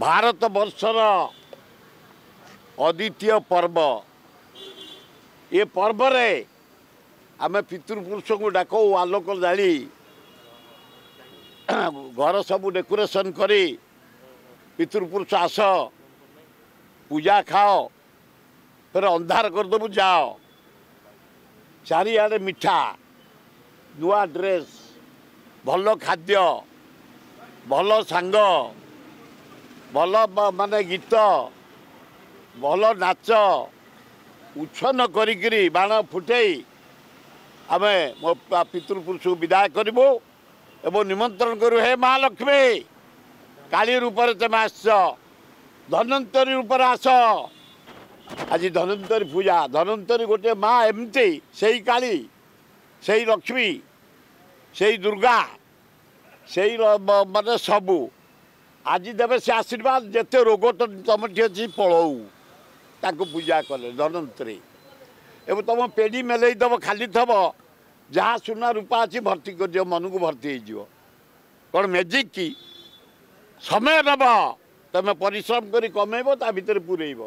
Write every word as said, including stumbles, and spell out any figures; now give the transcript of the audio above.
ଭାରତ ବର୍ଷର ଅଦ୍ୱିତୀୟ ପର୍ବ। ଏ ପର୍ବରେ ଆମେ ପିତୃପୁରୁଷଙ୍କୁ ଡାକଉ, ଆଲୋକ ଜାଳି, ଘର ସବୁ ଡେକୋରେସନ୍ କରି, ପିତୃପୁରୁଷ ଆସ, ପୂଜା ଖାଅ, ଫେର ଅନ୍ଧାର କରିଦେବୁ, ଯାଅ। ଚାରିଆଡ଼େ ମିଠା, ନୂଆ ଡ୍ରେସ୍, ଭଲ ଖାଦ୍ୟ, ଭଲ ସାଙ୍ଗ, ଭଲ ମାନେ ଗୀତ, ଭଲ ନାଚ, ଉଚ୍ଛନ୍ନ କରିକିରି ବାଣ ଫୁଟେଇ ଆମେ ମୋ ପିତୃପୁରୁଷକୁ ବିଦାୟ କରିବୁ ଏବଂ ନିମନ୍ତ୍ରଣ କରିବୁ, ହେ ମା ଲକ୍ଷ୍ମୀ, କାଳୀ ରୂପରେ ତୁମେ ଆସିଛ, ଧନ୍ୱନ୍ତରୀ ରୂପରେ ଆସ। ଆଜି ଧନ୍ୱନ୍ତରୀ ପୂଜା। ଧନ୍ୱନ୍ତରୀ ଗୋଟିଏ ମା ଏମିତି, ସେଇ କାଳୀ, ସେଇ ଲକ୍ଷ୍ମୀ, ସେଇ ଦୁର୍ଗା, ସେଇ ମାନେ ସବୁ ଆଜି ଦେବେ ସେ ଆଶୀର୍ବାଦ। ଯେତେ ରୋଗ ତମଠି ଅଛି ପଳଉ ତାଙ୍କୁ ପୂଜା କଲେ ଧନ୍ୱନ୍ତରୀ। ଏବଂ ତମ ପେଡ଼ି ମେଲେଇ ଦେବ, ଖାଲି ଥବ, ଯାହା ସୁନା ରୂପା ଅଛି ଭର୍ତ୍ତି କରିଦିଅ, ମନକୁ ଭର୍ତ୍ତି ହେଇଯିବ। କ'ଣ ମ୍ୟାଜିକ୍ କି? ସମୟ ନେବ, ତମେ ପରିଶ୍ରମ କରି କମେଇବ, ତା ଭିତରେ ପୁରେଇବ।